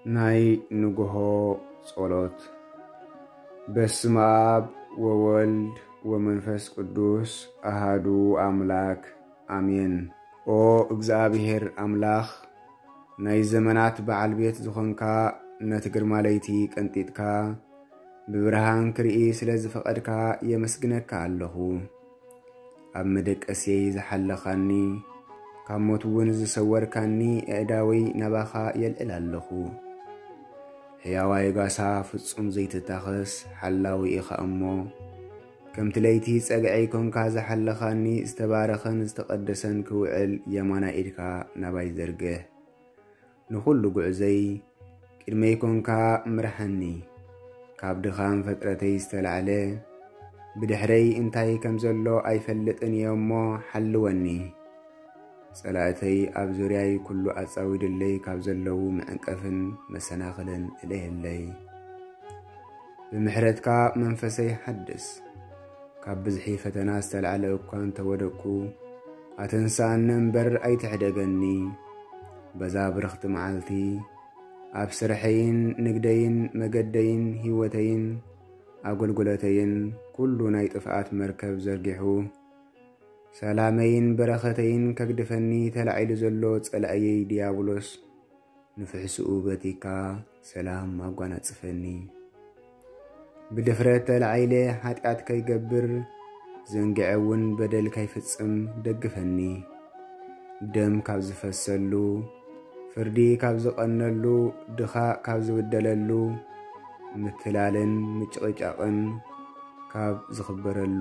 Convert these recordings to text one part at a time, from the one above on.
ናይ ንግሆ ጸሎት። በስመ አብ ወወልድ ወመንፈስ ቅዱስ አሃዱ አምላክ አሜን። ኦ እግዚኣብሔር አምላኽ፣ ናይ ዘመናት በዓል ቤት ዝኾንካ፣ ነቲ ግርማ ለይቲ ቀንጢጥካ ብብርሃን ክርኢ ስለ ዝፈቐድካ የመስግነካ ኣለኹ። ኣብ መደቀስየይ ዝሓለኻኒ፣ ካብ ሞት እውን ዝሰወርካኒ፣ ኣእዳወይ ናባኻ የልዕል ኣለኹ። ሕያዋይ ጋሳ ፍጹም ዘይትታኸስ ሓላዊ ኢኻ እሞ፣ ከምቲ ለይቲ ጸግዐይ ኮንካ ዝሓለኻኒ፣ ዝተባረኸን ዝተቐደሰን ክውዕል የማናይ ኢድካ ናባይ ዘርግሕ። ንኹሉ ጉዕዘይ ቅድመይ ኮንካ ምርሓኒ። ካብ ድኻም ፍጥረተይ ዝተላዕለ፣ ብድሕረይ እንታይ ከም ዘሎ ኣይፈልጥን እየ እሞ ሓልወኒ። ጸላእተይ ኣብ ዙርያይ ኩሉ ኣጻዊዱለይ ካብ ዘለዉ መዕንቀፍን መሰናኽልን እለየለይ። ብምሕረትካ መንፈሰይ ሓድስ። ካብ ብዝሒ ፈተና ዝተላዕለ እኳ እንተወደቅኩ፣ ኣተንስኣኒ እምበር ኣይትሕደገኒ። በዛ ብርኽቲ መዓልቲ፣ ኣብ ስርሐይን ንግደይን መገደይን ህይወተይን ኣገልግሎተይን ኩሉ ናይ ጥፍኣት መርከብ ዘርጊሑ፣ ሰላመይን በረኸተይን ከግድፈኒ ተላዒሉ ዘሎ ጸላእየይ ዲያብሎስ፣ ንፍሕስኡ በቲካ ሰላም ኣጓናጽፈኒ። ብድፍረት ተላዒለ ሓጢኣት ከይገብር፣ ዘንግዐ እውን በደል ከይፍጽም ደግፈኒ። ደም ካብ ዝፈሰሉ፣ ፍርዲ ካብ ዝቐነሉ፣ ድኻ ካብ ዝብደለሉ፣ ምትላልን ምጭቕጫቕን ካብ ዝኽበረሉ፣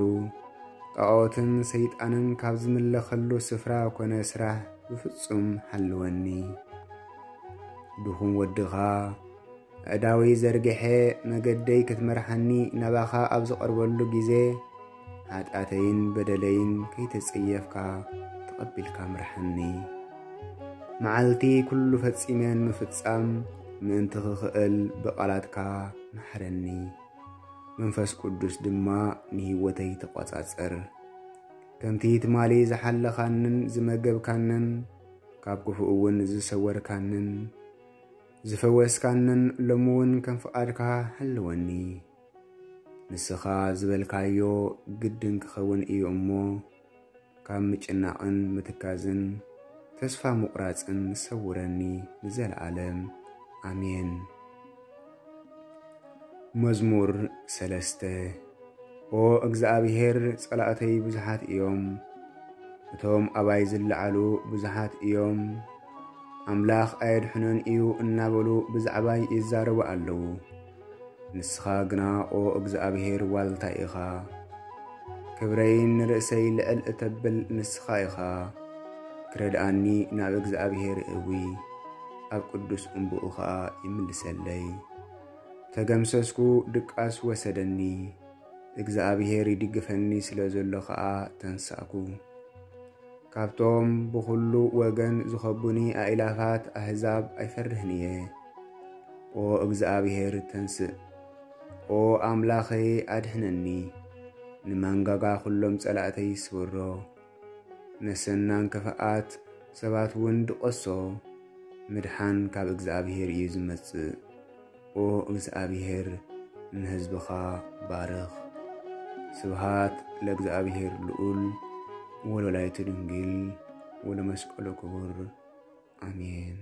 ጣኦትን ሰይጣንን ካብ ዝምለኸሉ ስፍራ ኮነ ስራሕ ብፍጹም ሓልወኒ። ድኹም ወድኻ፣ ኣእዳወይ ዘርግሐ መገደይ ክትመርሓኒ ናባኻ ኣብ ዝቐርበሉ ግዜ፣ ሓጢኣተይን በደለይን ከይተጸየፍካ ተቐቢልካ ምርሓኒ። መዓልቲ ኩሉ ፈጺመ ንምፍጻም ምእንቲ ክኽእል ብቓላትካ ምሓረኒ። መንፈስ ቅዱስ ድማ ንህይወተይ ተቖጻጸር። ከምቲ ትማሊ ዝሓለኻንን ዝመገብካንን፣ ካብ ክፉእ እውን ዝሰወርካንን ዝፈወስካንን፣ ሎሚ እውን ከም ፍቓድካ ሓልወኒ። ንስኻ ዝበልካዮ ግድን ክኸውን እዩ እሞ፣ ካብ ምጭናቕን ምትካዝን ተስፋ ምቑራጽን ሰውረኒ ንዘለዓለም። ኣሜን። መዝሙር ሰለስተ። ኦ እግዚኣብሔር፣ ጸላእተይ ብዙሓት እዮም፣ እቶም ኣባይ ዝለዓሉ ብዙሓት እዮም። ኣምላኽ ኣየድሕኖን እዩ እናበሉ ብዛዕባይ ይዛረቡ ኣለዉ። ንስኻ ግና ኦ እግዚኣብሔር ዋልታ ኢኻ፣ ክብረይን ንርእሰይ ልዕል እተብል ንስኻ ኢኻ። ክረድኣኒ ናብ እግዚኣብሔር እእዊ፣ ኣብ ቅዱስ እምብኡ ኸኣ ይምልሰለይ። ተገምሰስኩ፣ ድቃስ ወሰደኒ፣ እግዚኣብሔር ይድግፈኒ ስለ ዘሎ ኸኣ ተንሳእኩ። ካብቶም ብኹሉ ወገን ዝኸቡኒ ኣእላፋት ኣህዛብ ኣይፈርህን እየ። ኦ እግዚኣብሔር ተንስእ፣ ኦ ኣምላኸይ ኣድሕነኒ። ንመንጋጋ ኩሎም ጸላእተይ ስብሮ፣ ነሰናን ክፍኣት ሰባት እውን ድቐሶ። ምድሓን ካብ እግዚኣብሔር እዩ ዝመጽእ። ኦ እግዚኣብሔር፣ ንህዝብኻ ባርኽ። ስብሃት ለእግዚኣብሔር ልዑል ወለወላዲቱ ድንግል ወለመስቀሉ ክቡር። ኣሜን።